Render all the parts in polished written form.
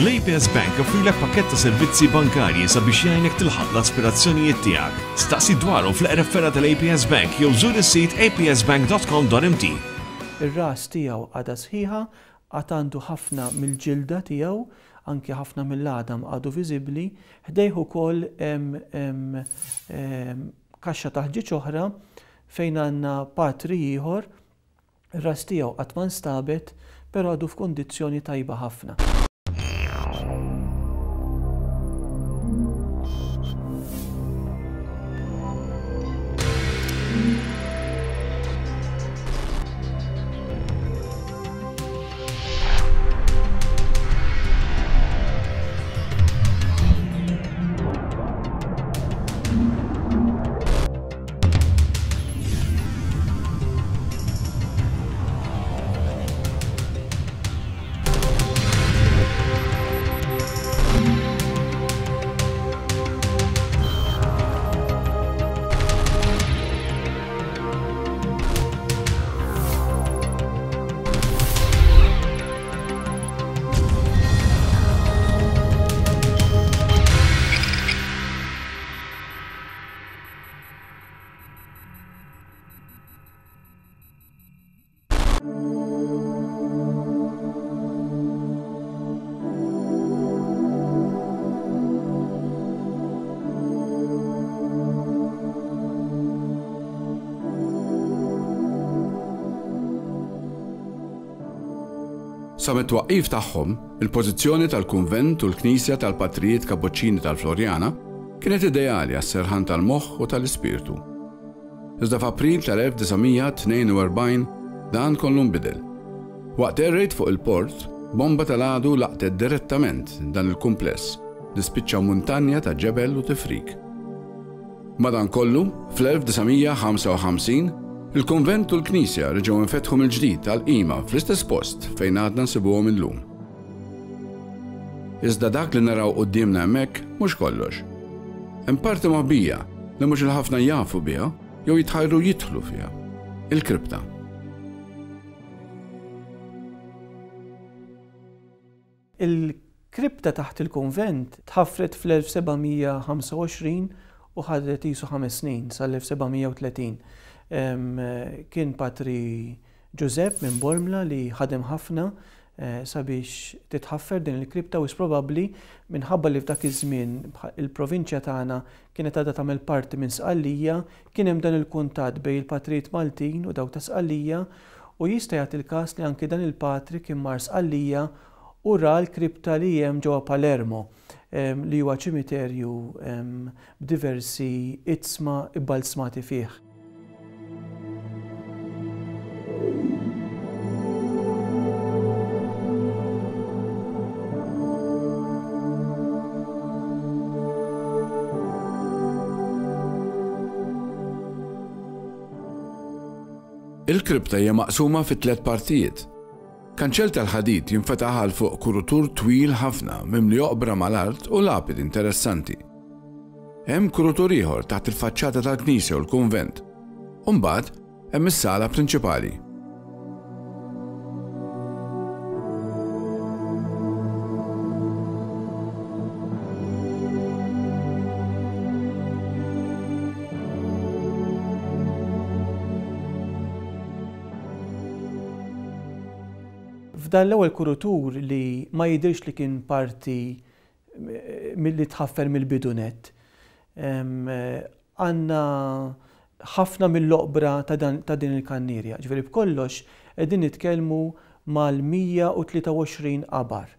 L-APS Bank joffrilek pakkett ta' servizzi bankarji sabiex jgħinek tilħaq l-aspirazzjonijiet tiegħek. Staqsi dwarhom fl-eqreb fergħa tal-APS Bank jew żur is-sit apsbank.com.mt. Ir-ras tiegħu għadha sħiħa, għad għandu ħafna mill-ġilda tiegħu, anki ħafna mill-għadam għadu viżibbli. Ħdejh ukoll hemm kaxxa ta' ħġieġ oħra fejn għandna patri ieħor Ir-ras tiegħu qatt ma nstabet, però għadu f'kundizzjoni tajba ħafna. Sa mit-twaqqif tagħhom, il-pożizzjoni tal-kunvent u l-knisja tal-Patrijiet Kapuċċini tal-Floriana Kienet ideali għas-serħan tal-moħħ u tal-ispirtu. Iżda f'April tal-1942 dan kollu nbidel. Waqt air raid fuq il-port, bomba tal-għadu laqtet direttament dan il-kumpless li spiċċa muntanja ta' ġebel u tifrik. Madankollu, fl-1955, il-kunvent u l-knisja reġgħu nfetħu mill-ġdid għall-qima fl-istess post fejn għadna nsibuhom illum. Iżda dak li naraw quddiemna hemmhekk mhux kollox. Hemm parti moħbija li mhux il-ħafna jafu biha jew jitħajru jidħlu fiha. Il-kripta. Il-kripta taħt il-kunvent tħaffret fl-1725 u ħadet qisu ħames snin sal-1730. Kien Patri Ġużepp minn Bormla li ħadem ħafna sabiex titħaffer din il-kripta wisq probabbli minħabba li f'dak iż-żmien il-provinċja tagħna kienet għadha tagħmel parti minn Sqallija, kien hemm dan il-kuntatt bejn il-patrijiet Maltin u dawk ta' Sqallija u jista' jagħti l-każ li anki dan il-patri kien mar Sqallija u ra l-kripta li hemm ġewwa Palermo li huwa ċimiterju b'diversi iġsma bbalzmati fih. Il-kripta hija maqsuma fi tliet partijiet. Kanċell tal-ħadid jinfetaħ għal fuq kurutur twil ħafna mimli oqbra mal-art u lapidi interessanti. Hemm kurutur ieħor taħt il-faċċata tal-knisja u l-kunvent. U mbagħad hemm is-sala prinċipali. F'dan l-ewwel kurutur li ma jidhirx li kien parti milli tħaffer mill-bidu nett. Għandna ħafna mill-oqbra ta' din il-kannierja. Ġifieri b'kollox qegħdin nitkellmu mal-123 qabar.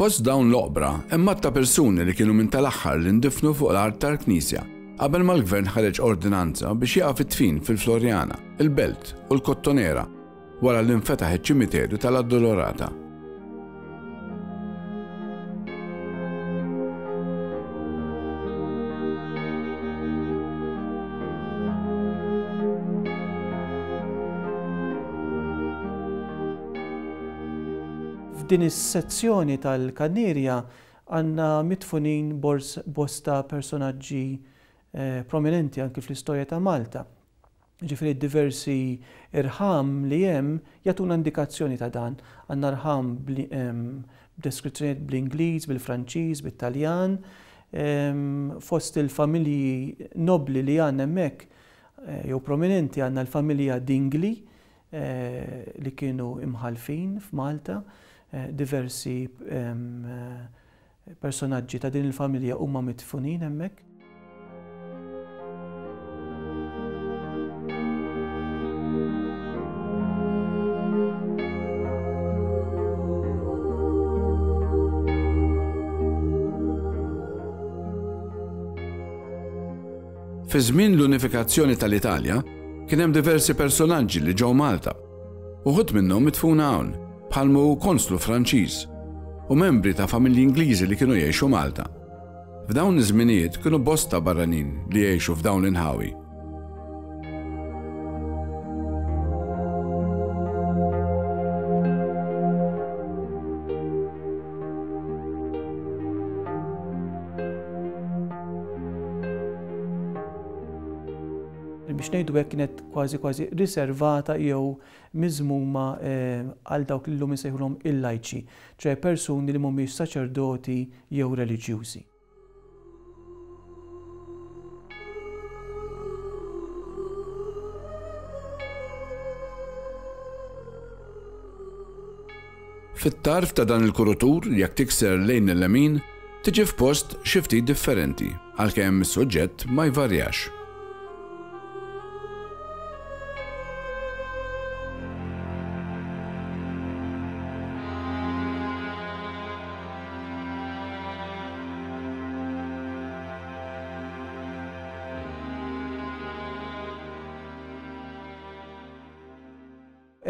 Fost dawn l-oqbra hemm għadd ta' persuni li kienu minn tal-aħħar li ndifnu fuq l-art tal-knisja qabel ma l-gvern ħareġ ordinanza biex jieqaf id-dfin fil-Floriana, il-Belt u l-Kottonera. wara li nfetaħ iċ-ċimiterju tal-Addolorata. F'din is-sezzjoni tal-Kannierja għandna midfunin bosta personaġġi prominenti anki fl-istorja ta' Malta. Jiġifieri d-diversi rħam li hemm jagħtuna indikazzjoni ta' dan. Għandna rħam b'deskrizzjonijiet bl-Ingliż, bil-Franċiż, bit-Taljan. Fost il-familji nobbli li għandna hemmhekk jew prominenti għandna l-familja Dingli li kienu imħallfin f'Malta, diversi Personaġġi ta' din il-familja huma midfunin hemmhekk. Fi żmien l-unifikazzjoni tal-Italja, kien hemm diversi personaġġi li ġew Malta. Uħud minnhom midfuna hawn, bħal m'hu konslu Franċiż u membri ta' familji Ingliżi li kienu jgħixu Malta. F'dawn iż-żminijiet kienu bosta barranin li jgħixu f'dawn l-inħawi. Biex ngħidu hekk kienet kważi kważi riservata jew miżmuma għal dawk li llum insejħulhom il-lajċi, ċoè persuni li mhumiex saċerdoti jew reliġjużi. Fit-tarf ta' dan il-kurutur, jekk tikser lejn il-lemin, tiġi f'post xi ftit differenti, għalkemm is-suġġett ma jvarjax.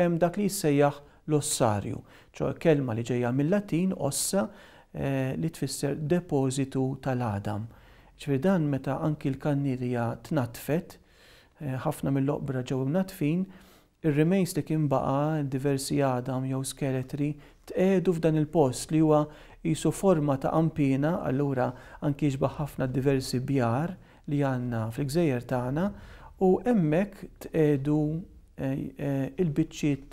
Hemm dak li jissejjaħ l-ossarju, ċoe kelma li ġejja mil-Latin ossa li tfisser depożitu tal-għadam. Jiġifieri dan meta anki l-kannierja tnaddfet, ħafna mill-oqbra ġew imnaddfin, ir-remains li kien baqa', diversi għadam jew skeletri, tqiegħdu f'dan il-post li huwa qisu forma ta' qanpiena, allura anki jixbah ħafna d-diversi bjar li għandna fil-gżejjer tagħna u hemmhekk tqiegħdu il-biċċiet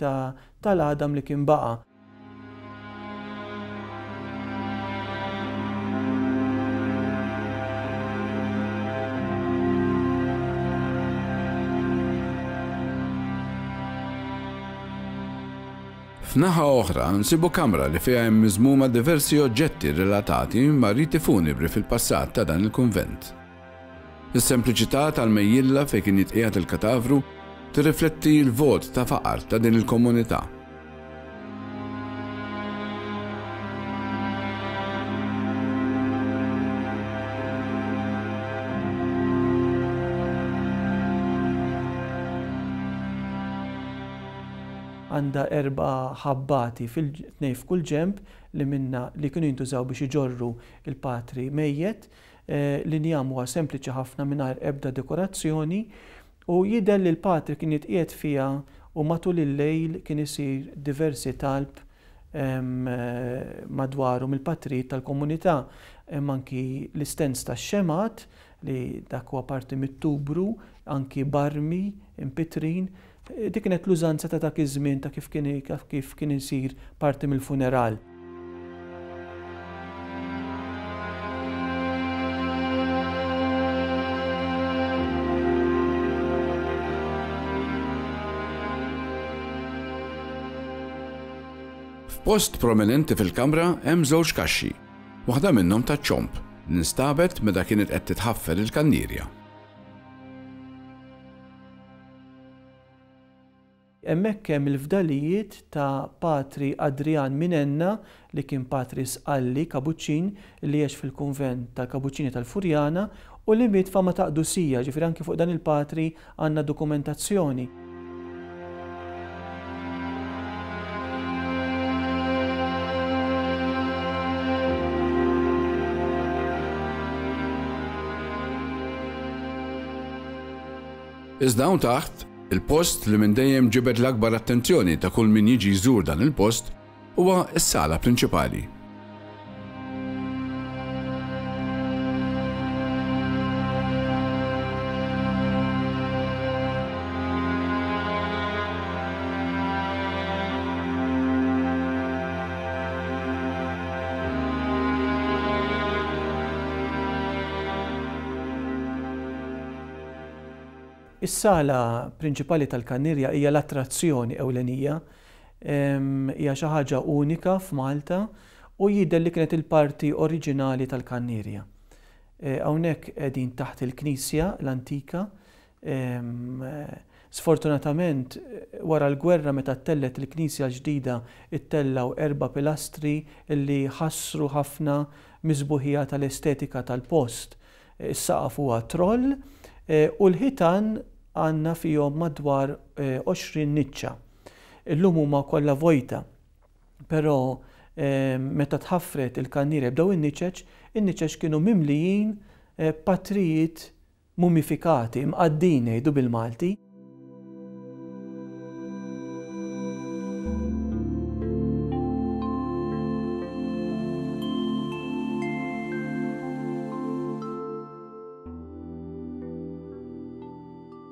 tal-għadam li kien baqa'. F'naħa oħra nsibu kamra li fiha hemm miżmuma diversi oġġetti relatati ma' riti funebri fil-passat ta' dan il-kunvent. Is-sempliċità tal-mejjilla fejn kien jitqiegħed il-katavru tirrifletti l-vot ta' faqar ta' din il-komunità. Għandha erba' ħabbati fil-tnejn f'kull ġenb li minnha li kienu jintużaw biex iġorru l-patri mejjet. L-injam huwa sempliċi ħafna mingħajr ebda dekorazzjoni u jidher li l-patri kien jitqiegħed fiha u matul il-lejl kien isir diversi talb madwaru mill-patrijiet tal-komunità. Hemm anki l-istens tax-xemgħat li dak huwa parti mit-tubru, anki barmi impittrin. Dik kienet l-użanza ta' dak iż-żmien ta' kif kien kif kien isir parti mill-funeral. F'post prominenti fil-kamra hemm żewġ kaxxi, waħda minnhom taċ-ċomb, li nstabet meta kienet qed titħaffer il-kannierja. Hemmhekk hemm il-fdalijiet ta' Patri Adrian Minenna li kien patri Sqalli, Kabuċċin, li għex fil-kunvent tal-Kabuċċini tal-Furjana u li miet fama ta' qdusija, ġifieri anki fuq dan il-patri għandna dokumentazzjoni. Iżda hawn taħt, il-post li minn dejjem ġibed l-akbar attenzjoni ta' kull min jiġi jżur dan il-post huwa s-sala prinċipali. Is-sala prinċipali tal-Kannierja hija l-attrazzjoni ewlenija. Hija xi ħaġa unika f'Malta u jidher li kienet il-parti oriġinali tal-Kannierja. Hawnhekk qegħdin taħt il-knisja l-antika. Sfortunatament wara l-gwerra meta ttellgħet il-knisja l-ġdida ttellgħu erba' pilastri li ħassru ħafna mis-sbuħija tal-estetika tal-post. Is-saqaf huwa troll u l-ħitan għandna fihom madwar 20 niċċa. Illum huma kollha vojta. Però meta tħaffret il-kannierja b'dawn in-niċeċ, in-niċeċ kienu mimlijin b'patrijiet mumifikati, mqaddin ngħidu bil-Malti.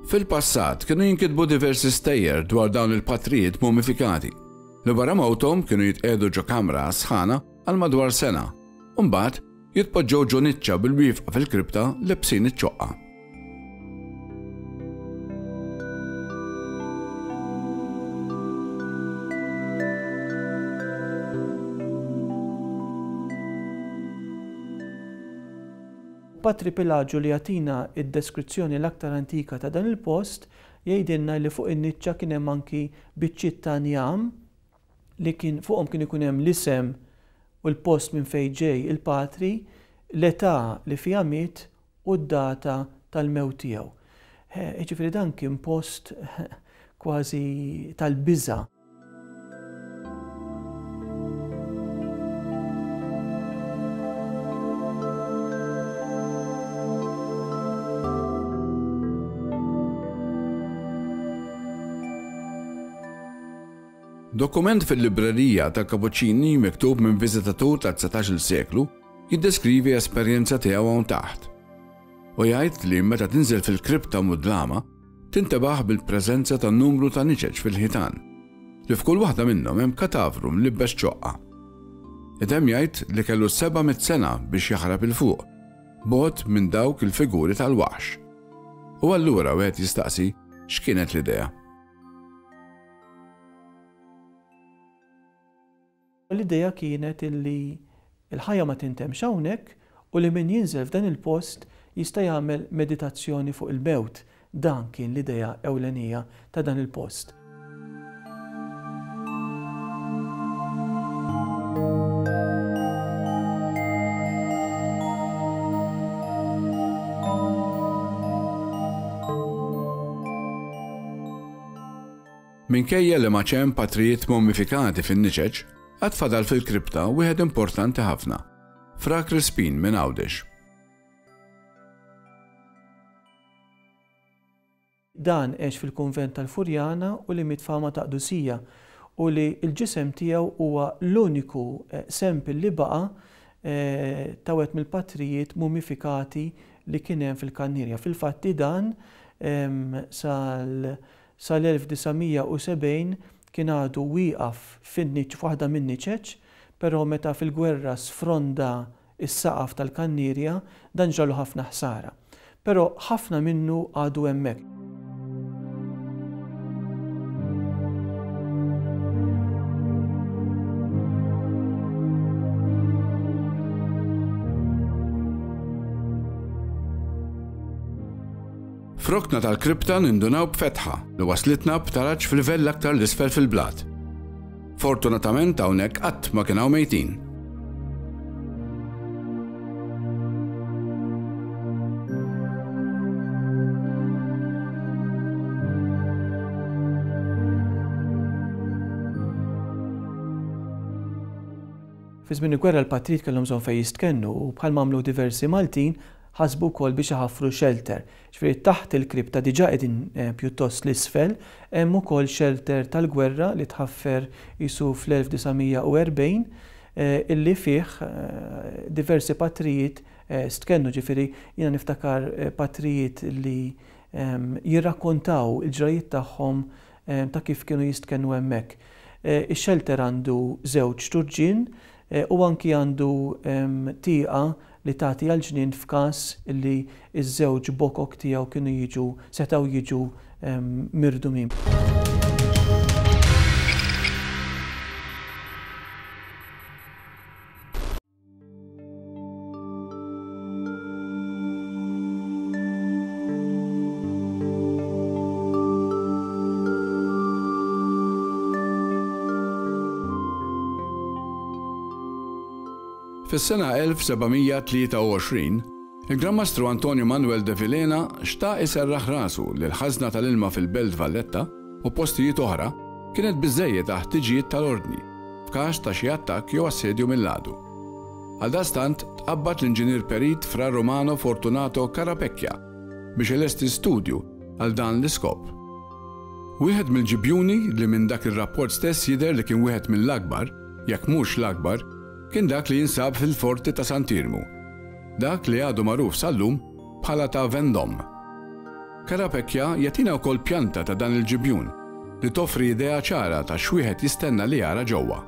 Fil-passat kienu jinkitbu diversi stejjer dwar dawn il-patrijiet mumifikati, li wara mewthom kienu jitqiegħdu ġo kamra għas-sħana għal madwar sena u mbagħad jitpoġġew ġo niċċa bil-wieqfa fil-kripta lebsin iċ-ċoqqa. Patri Pilaġu li jagħtina d-deskrizzjoni l-aktar antika ta' dan il-post jgħidilna li fuq in-niċċa kien hemm anki biċċiet ta' njam li kien fuqhom kien ikun hemm l-isem u l-post minn fejn ġej il-patri, l-età li fiha miet u d-data tal-mewt tiegħu. Jiġifieri dan kien post kważi tal-biża'. Dokument fil-librerija tal-Kapuċċini miktub minn viżitatur tad-dsatax-il seklu jiddeskrivi esperjenza tiegħu hawn taħt. U jgħid li meta tinżel fil-kripta mudlama, tintebaħ bil-preżenza ta' numru ta' niċeċ fil-ħitan, li f'kull waħda minnhom hemm katavru mlibbes ċoqqa. Itemm jgħid li kellu 700 sena biex jaħrab 'il fuq, bogħod minn dawk il-figuri tal-waħx. U allura wieħed jistaqsi x'kienet l-idea. L-idea kienet illi l-ħajja ma tintemmx hawnhekk u li min jinżel f'dan il-post jista' jagħmel meditazzjoni fuq il-mewt. Dan kien l-idea ewlenija ta' dan il-post. Minkejja li m'għadx hemm patrijiet mummifikati fin-niċeċ, għad fadal fil-kripta wieħed importanti ħafna, Fra Crispin minn Għawdex. Dan għex fil-kunvent tal-Furjana u li miet fama ta' qdusija u li l-ġisem tiegħu huwa l-uniku sample li baqa' ta' wieħed mill-patrijiet mummifikati li kien hemm fil-Kannierja. Fil-fatti dan sal Sal-1970 kien għadu wieqaf fin-niċċ f'waħda min-niċeċ, però meta fil-gwerra sfronda s-saqaf tal-kannierja, dan ġralu ħafna ħsara. Però ħafna minnu għadu hemmhekk. F'rokna tal-kripta nindunaw b'fetħa li waslitna b'taraġ f'livell aktar 'l isfel fil-blat. Fortunatament hawnhekk qatt ma kien hawn mejtin. Fi żmien il-gwerra l-patrijiet kellhom bżonn fejn jistkennu u bħalma għamlu diversi Maltin, ħasbu wkoll biex iħaffru xelter. Ġifieri taħt il-kripta diġà qegħdin pjuttost 'l isfel, hemm ukoll xelter tal-gwerra li tħaffer qisu fl-1940 illi fih diversi patrijiet stkennu, ġifieri jiena niftakar patrijiet li jirrakkontaw il-ġrajjiet tagħhom ta' kif kienu jistkennu hemmhekk. Ix-xelter għandu żewġ turġien u anki għandu tieqa li tagħti għall-ġnien f'każ li ż-żewġ bokok tiegħu kienu jiġu setgħu jiġu mirdumin. Fis-sena 1723, il-Gran Mastru Antonio Manuel de Vilhena xtaq iserraħ rasu li l-ħażna tal-ilma fil-Belt Valletta u postijiet oħra kienet biżżejjed għall-ħtiġijiet tal-Ordni f'każ ta' xi attakk jew assedju mill-għadu. Għaldaqstant tqabbad l-inġinier perit Fra Romano Fortunato Carapecchia biex ilesti studju għal dan l-iskop. Wieħed mill-ġibjuni li minn dak ir-rapport stess jidher li kien wieħed mill-akbar, jekk mhux l-akbar, kien dak li jinsab fil-Forti ta' Sant'Iermu, dak li għadu magħruf sal-lum bħala ta' Vendôme. Carapecchia jagħtina wkoll pjanta ta' dan il-ġibjun li toffri idea ċara ta' x'wieħed jistenna li jara ġewwa.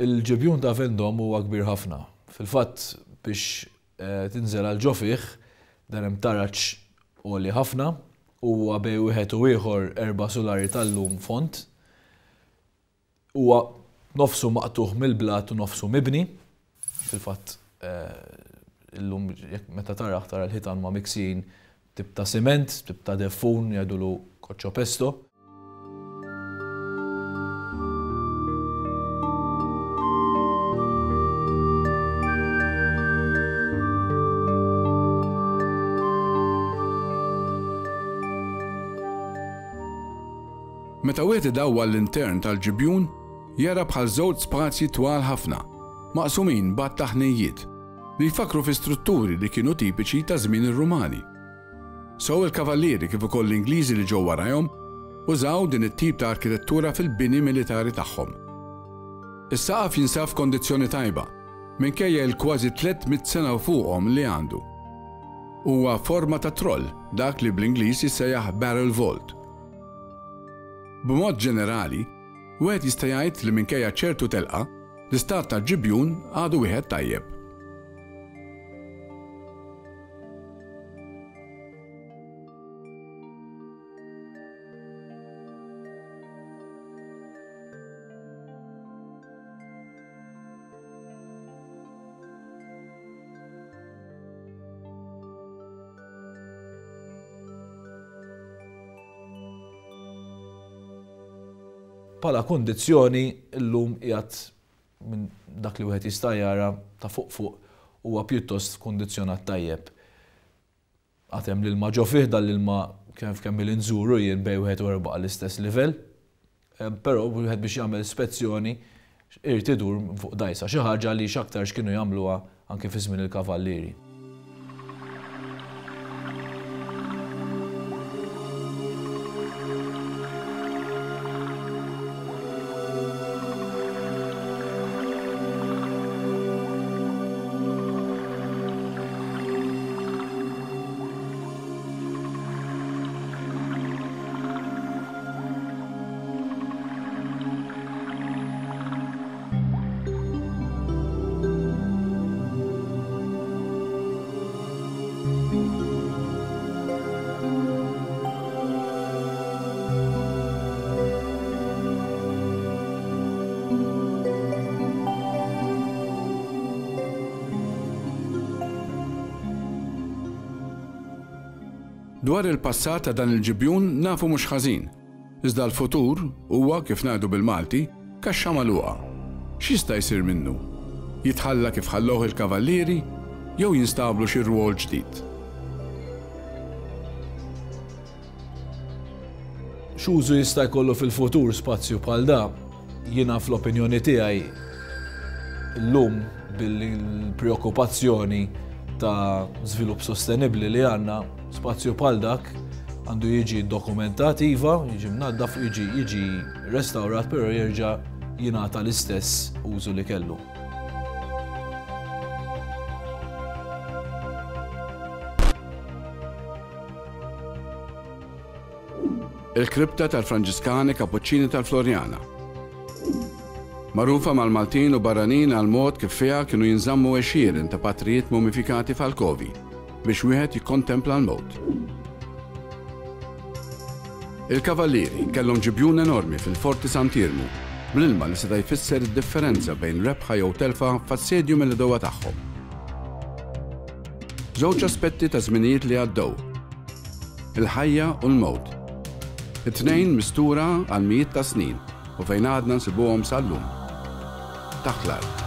Il-ġibjun ta' Vendôme huwa kbir ħafna. Fil-fatt biex tinżel għal ġo fih, dan hemm taraġ għoli ħafna, huwa bejn wieħed u ieħor erba' sulari tal-lum fond. Huwa nofsu maqtugħ mill-blat u nofsu mibni. Fil-fatt illum jekk meta tarah tara l-ħitan huma miksijin tip ta' siment, tip ta' deffun jgħidulu cocciopesto. Meta wieħed idawwar l-intern tal-ġibjun, jara bħal żewġ spazji twal ħafna, maqsumin b'għadd ta' ħnejjiet, li jfakkru fi strutturi li kienu tipiċi ta' żmien ir-Rumani. Sew il-Kavallieri kif ukoll l-Ingliżi li ġew warajhom użaw din it-tip ta' arkitettura fil-bini militari tagħhom. Is-saqaf jinsab f'kondizzjoni tajba, minkejja il-kważi 300 sena u fuqhom li għandu. Huwa forma ta' troll, dak li bl-Ingliż jissejjaħ barrel vault. B'mod ġenerali, wieħed jista' jgħid li minkejja ċertu telqa, l-istat tal-ġibjun għadu wieħed tajjeb. Bħala kundizzjoni llum qiegħed minn dak li wieħed jista' jara ta' fuq fuq huwa pjuttost kundizzjonat tajjeb. Għad hemm l-ilma ġo fih, dan l-ilma kemm kemm ili nżuru jien bejn wieħed u ieħor baqa' l-istess livell. Però wieħed biex jagħmel spezzjoni irid idur fuq dgħajsa, xi ħaġa li x'aktarx kienu jagħmluha anke fi żmien il-Kavallieri. Dwar il-passat ta' dan il-ġibjun nafu mhux ħażin. Iżda l-futur huwa, kif ngħidu bil-Malti, kaxxa magħluqa. X'jista' jsir minnu? Jitħalla kif ħallewh il-Kavallieri? Jew jinstablu xi rwol ġdid? X'użu jista' jkollu fil-futur spazju bħal da? Jiena fl-opinjoni tiegħi llum bil-preokkupazzjoni ta' żvilupp sostenibbli li għandna, spazju bħal dak għandu jiġi dokumentat iva, jiġi mnaddaf, jiġi jiġi restawrat, però jerġa' jingħata l-istess użu li kellu. Il-kripta tal-Franġiskani Kapuċċini tal-Floriana. Magħrufa mal-Maltin u barranin għall-mod kif fiha kienu jinżammu għexieren ta' patrijiet mumifikati f'alkovi biex wieħed jikkontempla l-mewt. Il-Kavallieri kellhom ġibjun enormi fil-Forti Sant'Iermu bl-ilma li seta' jfisser id-differenza bejn rebħa jew telfa f'assedju mill-għedewwa tagħhom. Żewġ aspetti ta' żminijiet li għaddew. Il-ħajja u l-mewt. It-tnejn mistura għal mijiet ta' snin u fejn għadna nsibuhom sal-lum. Taħt l-art.